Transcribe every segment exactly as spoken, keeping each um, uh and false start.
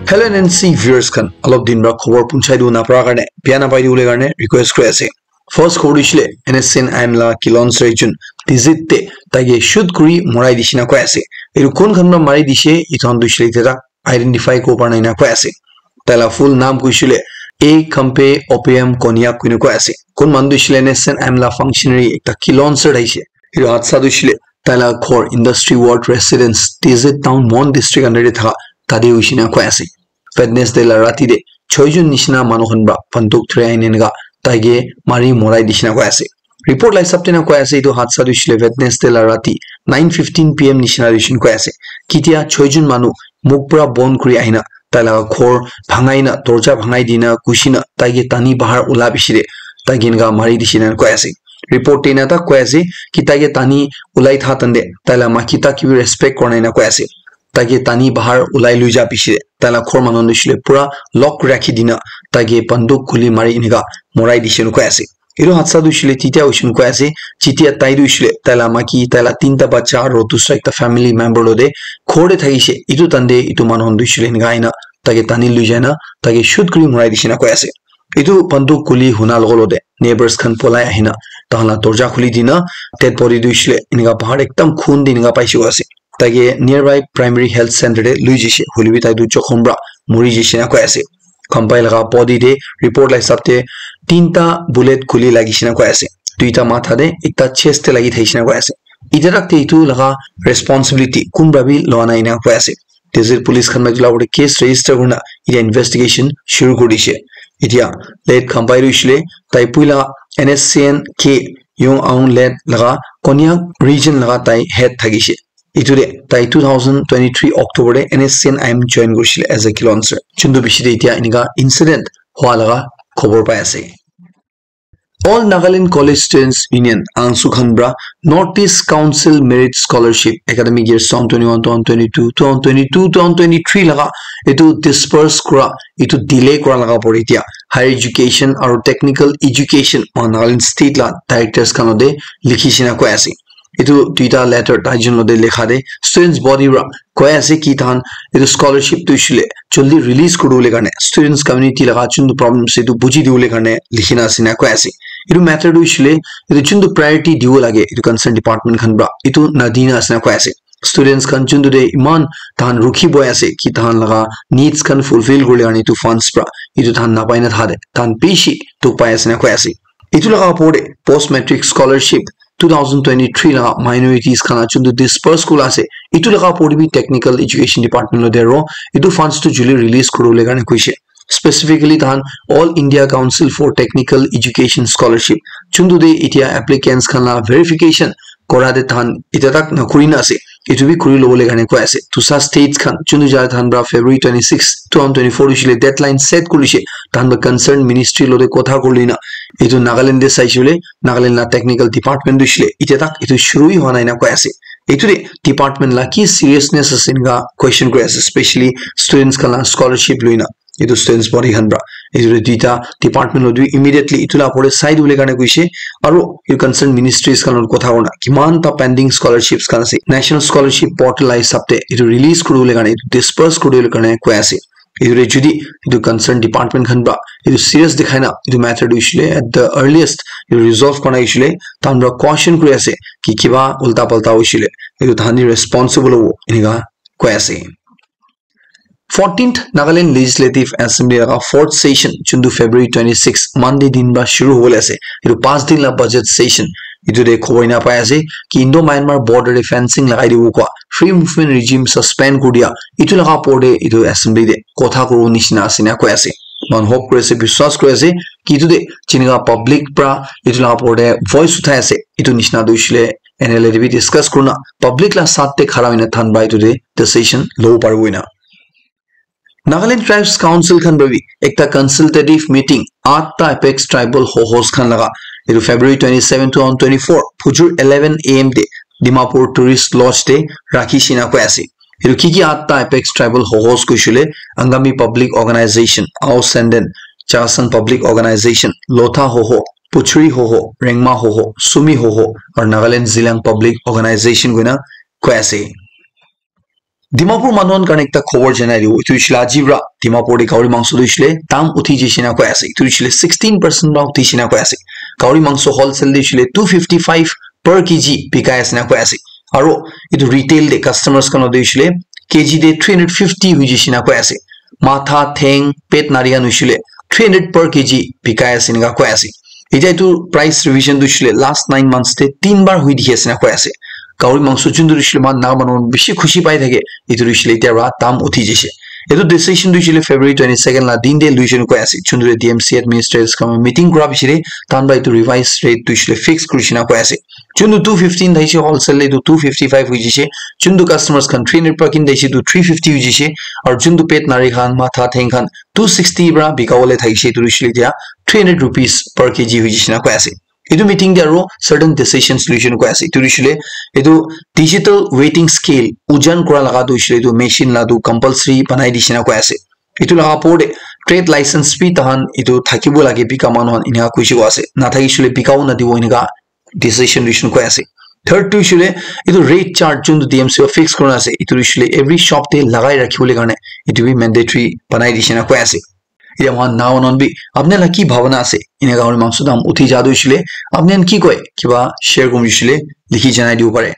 Hello N N C viewers khan, alop din pra khobor punchai du napra karne, bia napai du le karne request kuri ase. First khobor dishile, N S C N I M la kilonser jun Tizit te taige shoot kuri morai dishina koi ase. Etu kun khan pra mari dishe, etu khan dishile te identify ko parna ina koi ase. Taila full naam kuishile A Khampe Opium Konyak kuina koi ase. Kun manu dishile N S C N I M la functionary ekta kilonser daishe. Etu hatsa dishile taila ghor Industry Ward Residence, Tizit Town, Mon District under te thaka tate huishina koi ase. Wednesday la rati te choi jun nishina manu khan pra banduk thrai aina eneka taige mari morai dishina koi ase. Report la hisab te na koi ase etu hatsa dishile Wednesday la rati nine fifteen P M nishina dishina koi ase. Kitia choi jun manu muk pra bon kuri ahina taila ghor bhangai na dorja bhangai dina kushina taige tani bahar ula bishire taige eneka mari dishina koi ase. Report te na ta koi ase ki taige tani ulai tha tande taila maki ta kibi respect korna ina koi ase. Taige tani bahar ulai lui ja bishire taila ghor manu dishile pura lock rakhi dina taige banduk guli mari eneka morai dishina koi ase. Etu hatsa dishile titia huishina koi ase, jitia tai dishile taila maki, taila tinta bacha aro dusra ekta family member lo de ghor te thakishe. Etu tande etu manu khan dishile eneka aina taige tani lui jaina taige shoot kuri morai dishina koi ase. Etu banduk guli huna logo lo de neighbors khan polai ahina tahan la dorja khuli dina dead body dishile eneka bahar ekdam khun de eneka paishe ase. Taige nearby primary health center te lui jishe, hoilebi tai tu jokhom pra mori jishe na koi ase. Khampai laga body te report la hisab te tinta bullet guli lagishina koi ase. Duita matha te, ekta chest te lagi thaishina koi ase. Itiatak te etu laga responsibility kun pra bi loa nai ina koi ase. Tizit police khan pra etu la upor te case register kurina etia investigation shuru kuri dishe. Etia late Khampai dishile tai puila N S C N K Yong Aung late laga Konyak region laga tai head thakishe. Etu te tai two thousand twenty-three October te N S C N I M join kurishile as a kilonser. Chundu bishi te etia eneka incident hua laga khobor pai ase. All Nagaland College Students Union, angsu khan pra North East Council Merit Scholarship academic year twenty twenty-one, twenty twenty-two, twenty twenty-two, twenty twenty-three laga etu disperse kura, etu delay kura laga pore etia higher education aro technical education Nagaland state la directors khan lo de likhi shina koi ase. Etu duita letter tai jun lo de likha de students body pra koi ase ki tahan etu scholarship tu shile jaldi release kuri bole karne students community laga chuntu problem ase etu buji di bole karne likhina ase na koi ase. Etu matter tu shile etu chuntu priority dibo lage etu concern department khan pra etu na dina ase na koi ase. Students khan chuntu de iman tahan rukhi boi ase ki tahan laga needs khan fulfill kuri bole karne etu funds pra etu tahan na pai na tha de tahan bishi dukh pai ase na koi ase. Etu laga opor te post matric scholarship two thousand twenty-three laga minorities khan la chuntu disperse kula ase. Etu laga opor te bi technical education department lo de aro etu funds tu jaldi release kuri bole karne koishe. Specifically tahan All India Council for Technical Education Scholarship chuntu de etia applicants khan la verification kora de tahan etia tak na kuri na ase. Etu bi kuri lo bole karne koi ase. Dusa states khan chuntu jai tahan pra February twenty-six, twenty twenty-four dishile deadline set kurishe. Tahan pra concerned ministry lo de kotha kuri na etu Nagaland de saishe le Nagaland la technical department dishile etia tak etu shuru hi hua nai na koi ase. Etu de department la ki seriousness ase eneka question kuri ase, specially students khan la scholarship lui na etu students body khan pra. Etu de duita department lo de immediately etu la opor te sai di bole karne koishe. Aro etu concerned ministries khan lo kotha kuri na kiman ta pending scholarships khan ase national scholarship portal la hisab te etu release kuri bole karne etu disperse kuri bole karne koi ase. Etu re jodi etu concern department khan pra etu serious dikhai na etu matter tu hoishe le at the earliest etu resolve kora nai hoishe le tahan pra caution kuri ase ki kiba ulta palta hoishe le etu tahan hi responsible hobo enika koi ase. Fourteenth Nagaland Legislative Assembly laga fourth session chuntu February twenty-six Monday din pra shuru hobole ase. Etu panch din la budget session etu de khobor ena pai ase ki Indo Myanmar border de fencing lagai dibo koa, free movement regime suspend kuri dia, etu laga opor de etu assembly de kotha kuribo nishina ase na koi ase. Moikhan hope kuri ase, biswas kuri ase ki etu de jinika public pra etu laga opor de voice uthai ase, etu nishina tu hoishe le N L A de bi discuss kurina public la saath de khara hoina than ba etu de decision lobo paribo ena. Nagaland Tribes Council khan para bi ekta consultative meeting atta apex tribal hohos khan laga etu February twenty-seven, twenty twenty-four phujur eleven A M te Dimapur Tourist Lodge te rakhi shina koi ase. Etu ki ki atta apex tribal hohos koishile Angami Public Organization, Ao Senden, Chakhesang Public Organization, Lotha Hoho, Puchuri Hoho, Rengma Hoho, Sumi Hoho, aru Nagaland Zeliang Public Organization koina koi ase. Dimapur manu khan karne ekta khobor janai dibo. Etu hoishile aji pra Dimapur te gahori mangso tu hoishile dam uthi jai shina koi ase. Etu hoishile sixteen percent pra uthi shina koi ase. Gahori mangso wholesale te hoishile two fifty five per kg bikai ase na koi ase. Aro etu retail te customers khan te hoishile kg te three hundred fifty hoi jai shina koi ase. Matha, theng, pet nari khan hoishile three hundred per kg bikai ase enika koi ase. Etia etu price revision tu hoishile last nine months te tin bar hoi dikhi ase na koi ase. Gahori mangso chundu hoishile man na manu bishi khushi pai thake. Etu hoishile etia ra dam uthi jai se. Etu decision tu hoishile February twenty second la din te lui jai shina koi ase. Chundu te D M C administrators khan meeting kura bishi te tan ba etu revised rate tu hoishile fix kuri shina koi ase. Chundu two fifteen thaise wholesale le tu two fifty five hoi jai se. Chundu customers khan three hundred pra kin thaise tu three fifty hoi jai se. Aru chundu pet nari khan, matha, theng khan two sixty pra bika bole thaise tu hoishile etia three hundred rupees per kg hoi jai shina koi ase. Etu meeting te aro certain decisions lui shina koi ase. Etu hoishile etu digital weighing scale ojan kura laga tu hoishile etu machine la tu compulsory banai di shina koi ase. Etu laga opor te trade license bi tahan etu thakibo lage bika manu khan enika koise koi ase. Na thakisile bikabo na dibo enika decision lui shina koi ase. Third tu hoishile etu rate chart chundu D M C fix kuri na ase. Etu hoishile every shop te lagai rakhi bole karne etu bi mandatory banai di shina koi ase. Etia moikhan na onon bi apni la ki bhabana ase? Enika gahori mangso dam uthi ja tu hoishile apni khan ki koi? Kiba share kurim hoishile likhi janai dibo pare.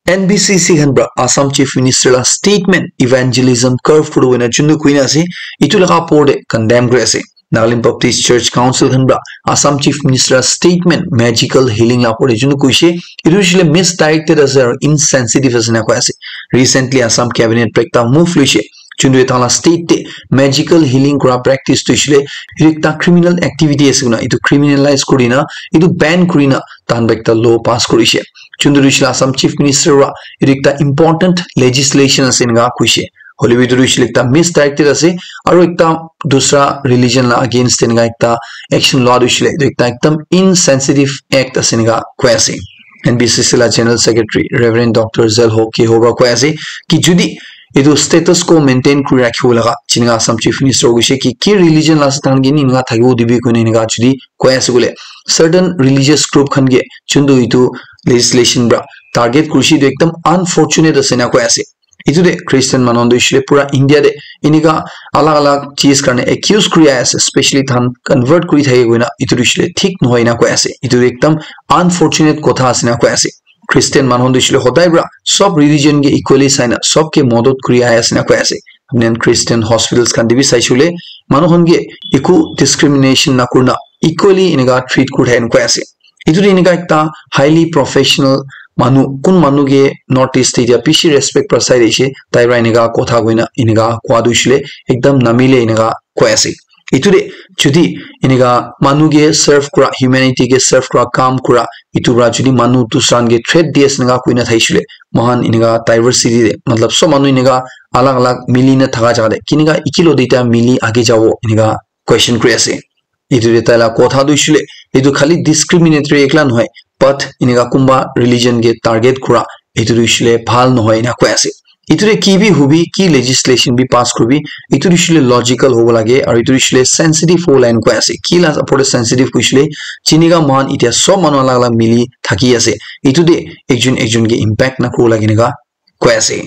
N B C C khan pra Assam Chief Minister la statement evangelism curve kuri wena chundu kuina ase. Etu laga opor te condemn kuri ase. Nagaland Baptist Church Council khan pra Assam Chief Minister la statement magical healing la opor te chundu kuise. Etu hoishile misdirected ase aru insensitive ase na koi ase. Recently Assam cabinet pra ekta move luise. Chundu eta la state te magical healing kura practice tu hoishile etu ekta criminal activity ase kuna etu criminalize kurina etu ban kurina tan ba ekta law pass kurise. Chundu hoishile Assam Chief Minister wa etu ekta important legislation ase enika kuise. Hoile bi etu hoishile ekta misdirected ase aru ekta dusra religion la against enika ekta action loa tu hoishile etu ekta ekdam insensitive act ase enika koi ase. N B C C la General Secretary Reverend Doctor Zelho Keho pra koi ase ki jodi etu status quo maintain kuri rakhibo laga jinika Assam Chief Minister koise ki ki religion la ase tahan ke enika thakibo dibi koina enika jodi koi ase koile certain religious group khan ke chundu etu legislation pra target kurise etu ekdam unfortunate ase na koi ase. Etu te Christian manu khan tu hoishile pura India te enika alag alag cheez karne accuse kuri ase, specially tahan convert kuri thake koina etu tu hoishile thik nohoi na koi ase. Etu tu ekdam unfortunate kotha ase na koi ase. Christian manu khan tu hoishile hodai pra sob religion ke equally sai na sob ke modot kuri ahi ase na koi ase. Apni khan Christian hospitals khan te bi saishe koile manu khan ke eku discrimination na kurina equally enika treat kuri thake na koi ase. Etu tu enika ekta highly professional manu, kun manu ke North East te etia bishi respect pra sai thakishe, tai pra enika kotha koina enika koa tu hoishile ekdam namile enika koi ase. Etu te jodi enika manu ke serve kura, humanity ke serve kura kam kura, etu pra jodi manu dusra khan ke threat di ase enika koina thakishe koile, moikhan enika diversity te matlab sob manu enika alag alag mili na thaka jaga te kenika ekilog te etia mili age jabo enika question kuri ase. Etu te tai la kotha tu hoishile etu khali discriminatory ekla nohoi, but enika kunba religion ke target kura etu tu hoishile bhal nohoi ena koi ase. Etu te ki bi hobi, ki legislation bi pass kuribi, etu tu hoishile logical hobo lage aru etu tu hoishile sensitive hobo lage ena koi ase. Ki la opor te sensitive koishile, jinika moikhan etia sob manu alag alag mili thaki ase, etu te ekjon ekjon ke impact na kuribo lage enika koi ase.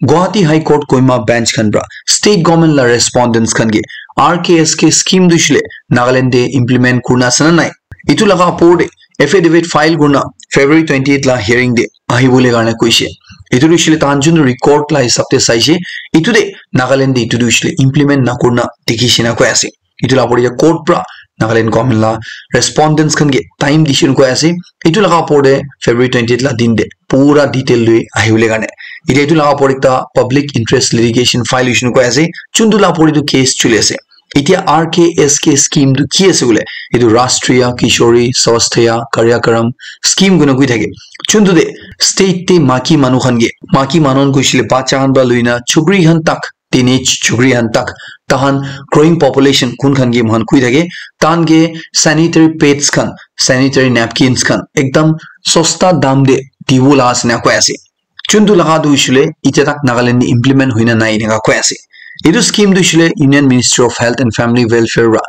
Guwahati High Court Kohima Bench khan pra state government la respondents khan ke R K S K scheme tu hoishile Nagaland te implement kurina ase na nai, etu laga opor te affidavit file kurina February twenty eight la hearing te ahibole karne koishe. Etu tu hoishile tahan jun record la hisab te saishe, etu te Nagaland te etu tu hoishile implement na kurina dikhishe na koi ase. Etu la opor te court pra Nagaland government la respondents khan ke time dishe koi ase. Etu laga opor te February twenty eight la din te pura detail lui ahibole karne. Etia etu laga opor ekta public interest litigation file hoishe koi ase. Chuntu laga opor etu case chuli ase. Etia R K S K scheme tu ki ase koile? Etu Rashtriya Kishori Swasthya Karyakram scheme koina koi thake. Chuntu te state te maki manu khan ke, maki manu khan koishile bacha khan pra luina chukri khan tak, teenage chukri khan tak, tahan growing population kun khan ke moikhan koi thake, tahan ke sanitary pads khan, sanitary napkins khan ekdam sosta dam te dibo la ase na koi ase. Chuntu laga tu hoishile itya tak Nagaland te implement hoina nai eneka koi ase. Etu scheme tu hoishile Union Ministry of Health and Family Welfare pra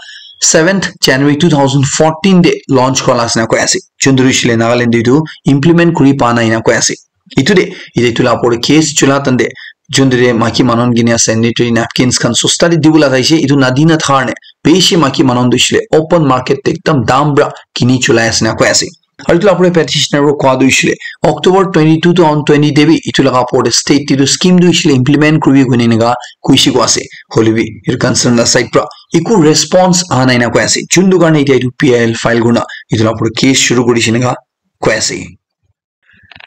seventh January two thousand fourteen te launch kora la ase na koi ase. Chuntu hoishile Nagaland te etu implement kuri pa nai na koi ase. Itu de, ite itu la opor case chula tande, juntu de maki manon gini sanitary napkins khan sosta de dibu laga ise, itu nadina tharne, beshi maki manon du shile, open market te ekdam dam bra kini chulai ase na koi ase. Aru itu la opor petitioner ro kwa du shile, October twenty-two to on twenty de bi, itu laga opor de state te itu scheme du shile implement kuribi guni nega kuishi kwa ase. Holibi, ir concern la side pra, iku response aha nai na koi ase. Juntu karne ite itu P I L file guna, itu la opor case shuru kuri shi nega koi ase.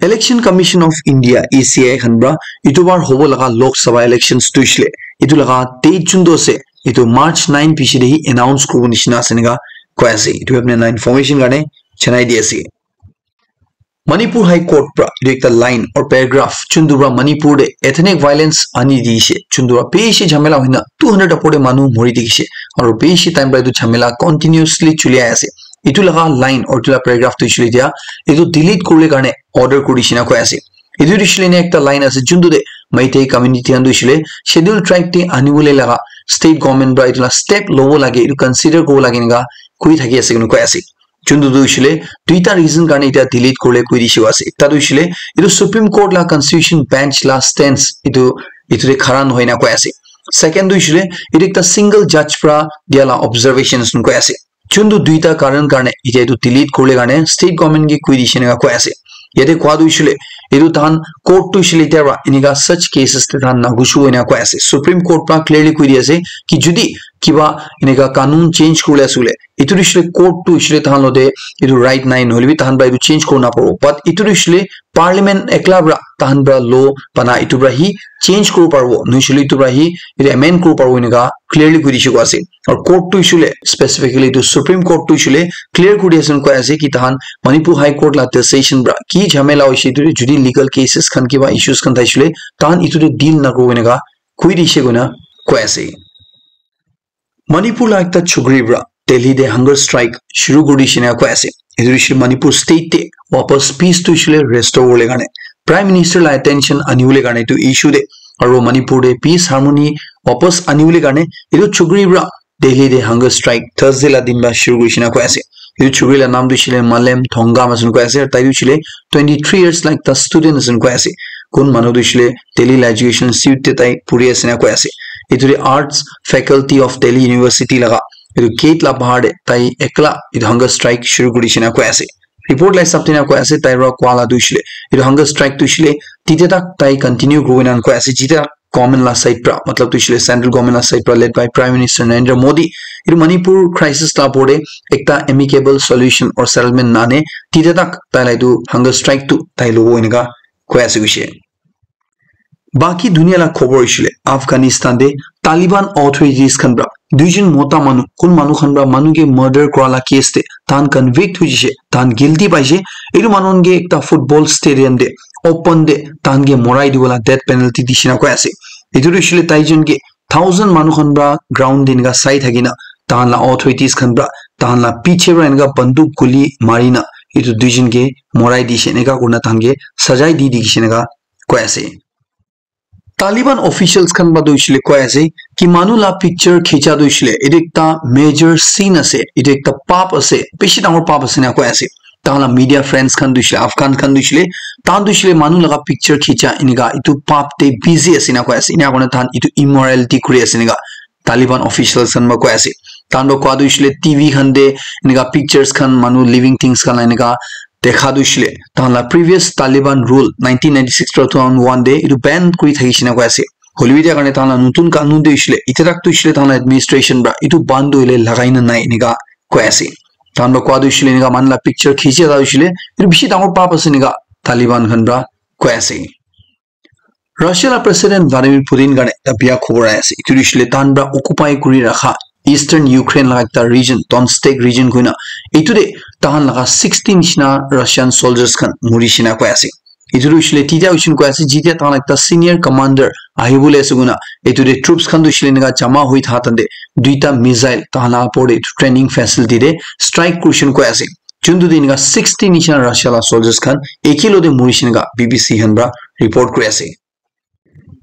Election Commission of India, E C I khan pra, itu bar hobo laga Lok Sabha elections tu shile. Itu laga date juntu ase, itu March nine piche de hi announce kuribo nishina ase nega koi ase. Itu apni na information karne chanai di ase. Manipur High Court pra, itu ekta line or paragraph, juntu pra Manipur de ethnic violence ani di ase, juntu pra beshi jhamela hoina two hundred opor de manu mori di ase, aru beshi time pra itu jhamela continuously chuli ase. Itu laga line or itu laga paragraph tu shile dia, itu delete kurle karne order kuri dishina koi ase. Itu tu shile ne ekta line ase, juntu de Meitei community khan tu shile Schedule Tribe te anibole laga state government pra itu la step lobo lage, itu consider kuribo lage nega koi thaki ase kunu koi ase. Juntu tu shile duita reason karne ita delete kurle koi dishe ase. Ekta tu shile itu Supreme Court la Constitution Bench la stance itu, itu de khara nohoi na koi ase. Second tu shile itu ekta single judge pra dia la observations koi ase. Juntu duita karan karne ite itu delete kurle karne state government ke koi dishe nega koi ase. Yate kwa tu shile itu tahan court tu shile ite pra enika such cases te tahan na gushu ena koi ase. Supreme Court pra clearly koi di ase ki judi kiba enika kanun change kurle ase bole, itu tu shile court tu shile tahan lo de itu right nai, nohole bi tahan pra itu change kuri na paribo. But itu tu shile parliament ekla pra tahan pra law bana itu pra hi change kuri paribo, nohole itu pra hi itu amend kuri paribo enika clearly koi dishe koi ase. Aru court tu shile specifically itu Supreme Court tu shile clear kuri ase koi ase ki tahan Manipur High Court la decision pra ki jhamela hoise itu judi legal cases khan kiba issues khan thai shile tahan itu de deal na kuribo enika koi dishe koina koi ase. Manipur la ekta chukri pra Delhi de hunger strike shuru kuri dishe na koi ase. Itu hoishe Manipur state te wapas peace tu hoishe restore wole karne, Prime Minister la attention ani wole karne itu issue de, aru Manipur de peace harmony wapas ani wole karne itu chukri pra Delhi de hunger strike Thursday la din pra shuru kuri dishe na koi ase. Itu chukri la naam tu hoishe Malem Thongam ase koi ase, tai tu hoishe twenty three years la ekta student ase koi ase. Kun manu tu hoishe Delhi la education institute te tai puri ase na koi ase. Itu de Arts Faculty of Delhi University laga itu gate la bahar de tai ekla itu hunger strike shuru kuri dishe na koi ase. Report la hisab te na koi ase, tai pra kwa la tu hoishe itu hunger strike tu hoishe tite tak tai continue kuri na koi ase, jite tak government la side pra, matlab tu hoishe central government la side pra led by Prime Minister Narendra Modi itu Manipur crisis la opor de ekta amicable solution or settlement nane tite tak tai la itu hunger strike tu tai lobo enika koi ase hoishe. Baki dunia la khobor hoishe Afghanistan de Taliban authorities khan pra duijon mota manu, kun manu khan pra manu ke murder kura la case de tahan convict hoishe, tahan guilty paishe. Itu manu khan ke ekta football stadium de open de tahan ke morai dibo la death penalty dishe na koi ase. Itu tu hoishe taijon ke thousand manu khan pra ground de enika sai thaki na tahan la authorities khan pra tahan la piche pra enika banduk guli mari na itu duijon ke morai dishe, enika kurina tahan ke sajai di dikhishe enika koi ase. Taliban officials khan pra tu hoishe koi ase ki manu la picture khicha tu hoishe itu ekta major sin ase, itu ekta pap ase, bishi dangor pap ase na koi ase. Tahan la media friends khan tu hoishe, Afghan khan tu hoishe, tahan tu hoishe manu laga picture khicha enika itu pap te busy ase na koi ase. Enika kurina tahan itu immorality kuri ase enika Taliban officials khan pra koi ase. Tahan pra koi tu hoishe T V khan de enika pictures khan manu living things khan la enika dekha tu hoishe tahan la previous Taliban rule nineteen ninety-six to two thousand one de itu ban kuri thakishe na koi ase. Hoilebi etia karne tahan la notun kanun de hoishe, etia tak tu hoishe tahan la administration pra itu ban tu hoile lagai na nai enika koi ase. Tahan pra koi tu hoishe enika manu la picture khichi ta hoishe itu bishi dangor pap ase enika Taliban khan pra koi ase. Russia la President Vladimir Putin karne ekta bia khobor ahi ase. Itu hoishe tahan pra occupy kuri rakha Eastern Ukraine laga ekta region, Donetsk region koina. Itu de tahan laga sixty nishina Russian soldiers khan mori shina koi ase. Itu hoishe tita hoishe koi ase, jitia tahan ekta senior commander ahibole ase koina. Itu de troops khan tu hoishe enika jama hoi tha tande duita missile tahan la opor de training facility de strike kurishin koi ase. Juntu din ka sixty nishina Russia la soldiers khan ekilo de mori shina ka B B C khan pra report kuri ase.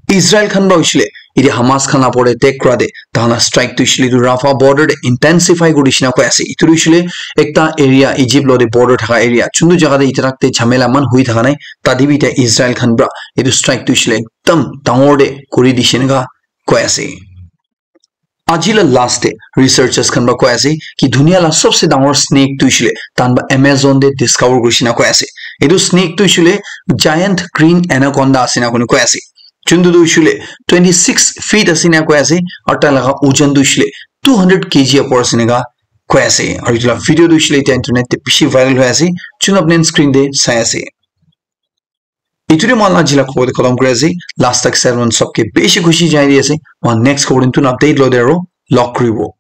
Israel khan pra hoishe Ite Hamas khan la opor te attack kura te tahan la strike tu hoishe le etu Rafah border te intensify kuri dishina koi ase. Etu tu hoishe le ekta area Egypt lo te border thaka area. Chuntu jaga te itarak te jhamela man hui thaka nai. Tate bi ite Israel khan pra etu strike tu hoishe le ekdam dangor te kuri dishe naka koi ase. Aji la last te researchers khan pra koi ase ki dunia la sabse dangor snake tu hoishe le tahan pra Amazon te discover kuri dishina koi ase. Etu snake tu hoishe le giant green anaconda ase na koi koi ase. Chuntu tu hoishe le twenty six feet ase na koi ase. Aru tai laga ojan tu hoishe le two hundred K G upor ase naka koi ase. Aru etu la video tu hoishe le ite internet te bishi viral hoi ase. Chun apni screen te sai ase. Etu te moi la aji la khobor te khatam kuri ase. Last tak saibo sabke bishi khushi janai di ase. Moi next khobor te notun update lo te aro log kuribo.